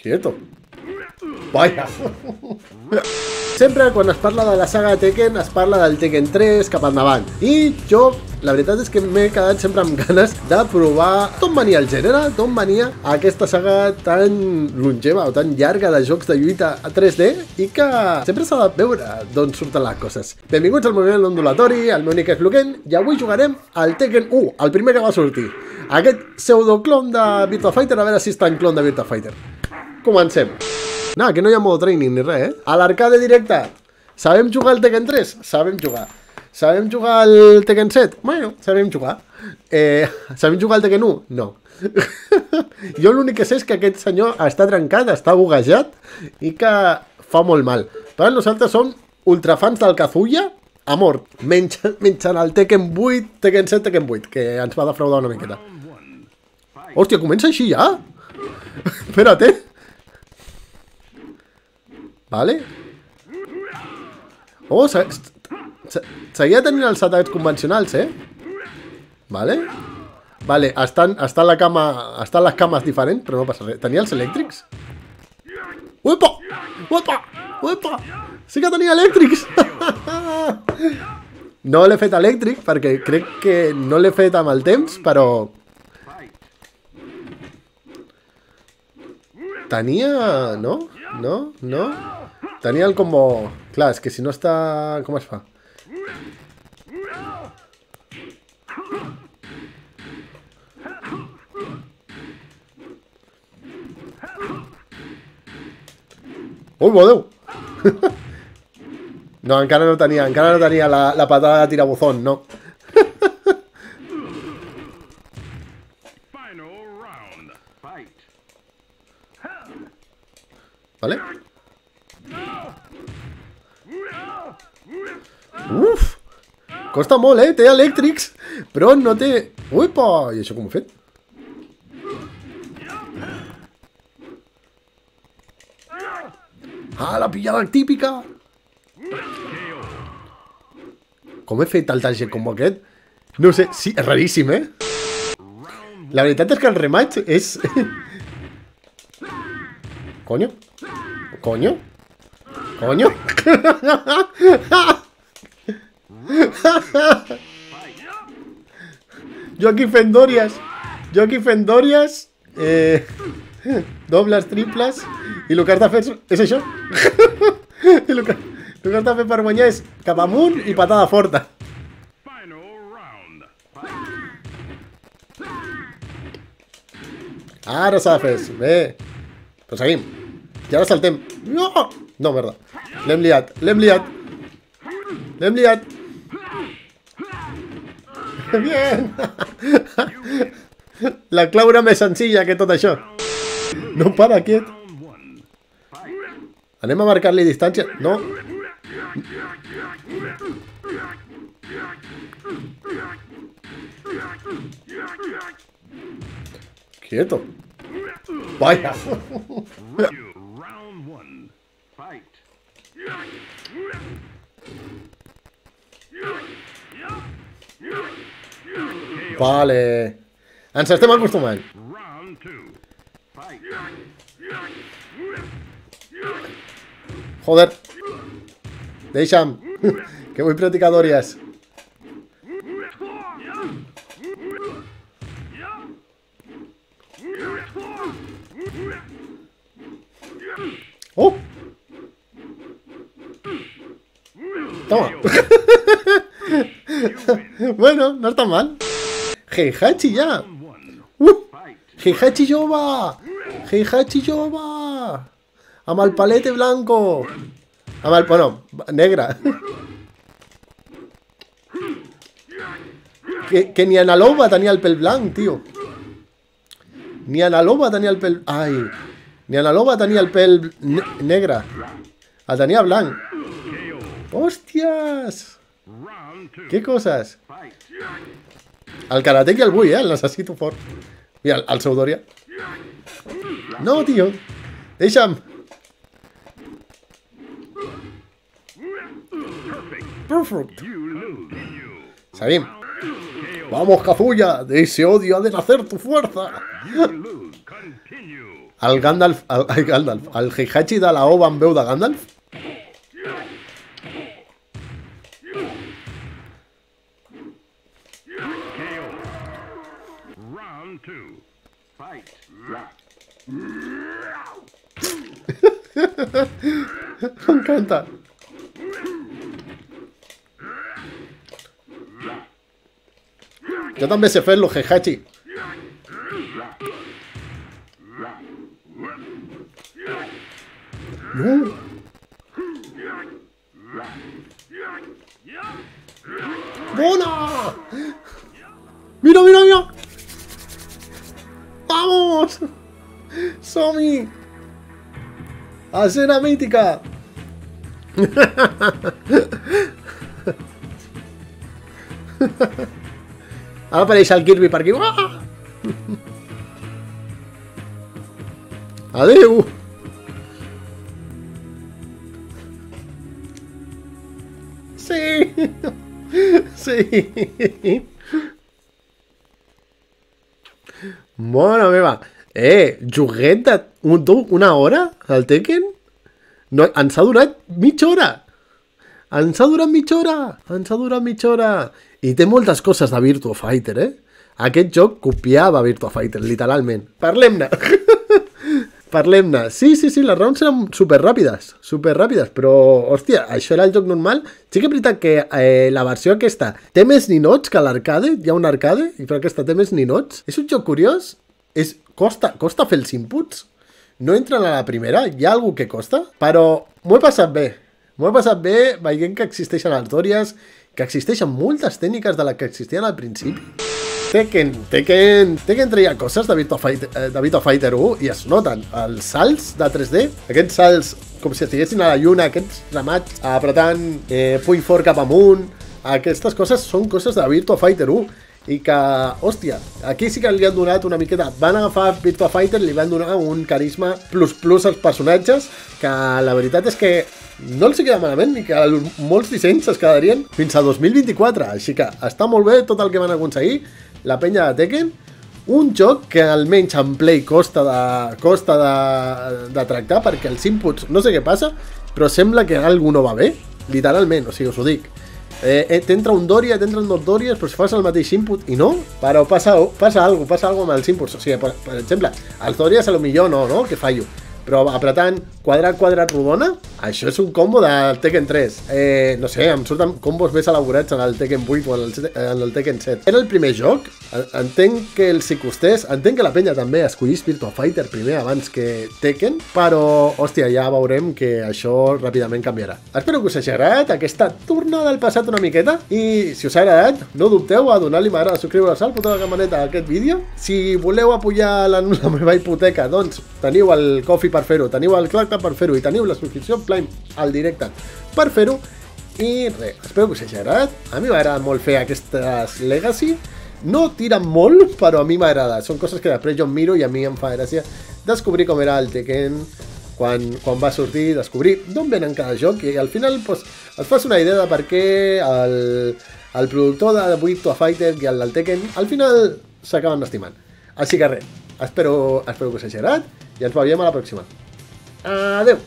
Quieto. Vaya. Sempre quan es parla de la saga de Tekken es parla del Tekken 3 cap endavant. I jo, la veritat és que m'he quedat sempre amb ganes de provar d'on venia el gènere, d'on venia aquesta saga tan longeva o tan llarga de jocs de lluita a 3D i que sempre s'ha de veure d'on surten les coses. Benvinguts al moviment ondulatori, el meu nick és Luken i avui jugarem al Tekken 1, el primer que va sortir. Aquest pseudoclon de Virtua Fighter, a veure si està en clon de Virtua Fighter. Comencem. No, que no hi ha modo training ni res, eh? A l'arcade directe. Sabem jugar al Tekken 3? Sabem jugar. Sabem jugar al Tekken 7? Bueno, sabem jugar. Sabem jugar al Tekken 1? No. Jo l'únic que sé és que aquest senyor està trencat, està buguejat i que fa molt mal. Però nosaltres som ultrafans del Kazuya a mort. Menjant el Tekken 8, Tekken 7, Tekken 8, que ens va defraudar una miqueta. Hòstia, comença així ja? Espera't, Vale. Oh, seguia tenint els atacs convencionals, Vale. Vale, estan les cames diferents, però no passa res. Tenia els elèctrics? Uepa! Uepa! Uepa! Sí que tenia elèctrics! No l'he fet elèctric, perquè crec que no l'he fet amb el temps, però... Tenia... No? No? No? Tenia el combo... Clar, és que si no està... Com es fa? Ui, meu Déu! No, encara no tenia la patada de tirabuzón, no. Vale? Uf! Costa molt, Té elèctrics, però no té... Uepa! I això com ho he fet? Ah, la pillada típica! Com he fet el target combo aquest? No sé, sí, és raríssim, La veritat és que el rematch és... Coño? Coño? Coño? Jo aquí fent dòries, dobles, triples, i el que has de fer és això. I el que has de fer per guanyar és cap amunt i patada forta. Ara s'ha de fer, bé. Però seguim. I ara saltem. No! No, merda. L'hem liat. Bien! La clau era més senzilla que tot això. No para, quiet. Anem a marcar-li distància. No. Quieto. Vaya. Vale. Ens estem acostumant. Joder. Deixa'm. Que vull practicar dòries. Oh! Toma. Bueno, no està mal. Heihachi ja. Heihachi jove. Heihachi jove. Amb el palete blanco. Amb el... Bueno, negre. Que ni Analoba tenia el pèl blanc, tio. Ni Analoba tenia el pèl... Ai. Ni Analoba tenia el pèl negre. El tenia blanc. Hòsties. Que coses. El Karateki el vull, el necessito fort. Mira, el seu Doria. No, tio. Deixa'm. Perfect. Seguim. Vamos, Kazuya, de ese odio ha de nacer tu fuerza. El Gandalf, el Heihachi de la OVA en veu de Gandalf. M'encanta. Jo també sé fer-lo, Heihachi. No. ¡Bona! ¡Mira, mira, mira! ¡Vamos! ¡Som-hi! ¡Escena mítica! Ara apareix el Kirby per aquí. Adéu! Sí! Sí! Mare meva! Joguet d'una hora al Tekken? No, ens ha durat mitja hora! Ens ha durat mitja hora! Ens ha durat mitja hora! I té moltes coses de Virtua Fighter, Aquest joc copiava Virtua Fighter, literalment. Parlem-ne! Parlem-ne. Sí, les rounds eren superràpides, però, hòstia, això era el joc normal. Sí que és veritat que la versió aquesta té més ninots que l'arcade, hi ha un arcade, i però aquesta té més ninots. És un joc curiós, costa fer els inputs, no entren a la primera, hi ha algú que costa, però m'ho he passat bé. M'ho he passat bé veient que existeixen les dòries, que existeixen moltes tècniques de les que existien al principi. Tekken treia coses de Virtua Fighter 1 i es noten. Els salts de 3D, aquests salts com si estiguessin a la lluna, aquests ramats apretant puny fort cap amunt, aquestes coses són coses de Virtua Fighter 1 i que, hòstia, aquí sí que li han donat una miqueta. Van agafar Virtua Fighter i li van donar un carisma plus als personatges que la veritat és que no els queda malament ni que molts dissenys es quedarien fins a 2024, així que està molt bé tot el que van aconseguir la penya de Tekken, un joc que almenys en Play costa de tractar perquè els inputs, no sé què passa, però sembla que alguna no va bé, literalment, o sigui, us ho dic. T'entra un Doria, t'entren dos Dorias, però si fas el mateix input i no, però passa alguna cosa amb els inputs, o sigui, per exemple, els Dorias a lo millor no, que fallo, però apretant quadrat, rodona, això és un combo del Tekken 3. No sé, em surten combos més elaborats en el Tekken 8 o en el Tekken 7. Era el primer joc, entenc que els hi costés, entenc que la penya també escollís Virtua Fighter primer abans que Tekken, però, hòstia, ja veurem que això ràpidament canviarà. Espero que us hagi agradat aquesta tornada al passat una miqueta, i si us ha agradat, no dubteu a donar-li m'agrada, subscriure-vos al botó de campaneta a aquest vídeo. Si voleu apoyar la meva hipoteca, doncs teniu el Coffee per fer-ho, teniu el Clacta per fer-ho i teniu la subscripció Prime al directe per fer-ho. I res, espero que us hagi agradat. A mi m'agrada molt fer aquestes Legacy. No tiren molt, però a mi m'agrada. Són coses que després jo em miro i a mi em fa gràcia descobrir com era el Tekken quan va sortir, descobrir d'on venen cada joc i al final pues, et fas una idea de per què el productor de Virtua Fighter i el del Tekken al final s'acaben estimant. Així que res, espero que us hagi agradat i ens veiem a la pròxima. Adeu!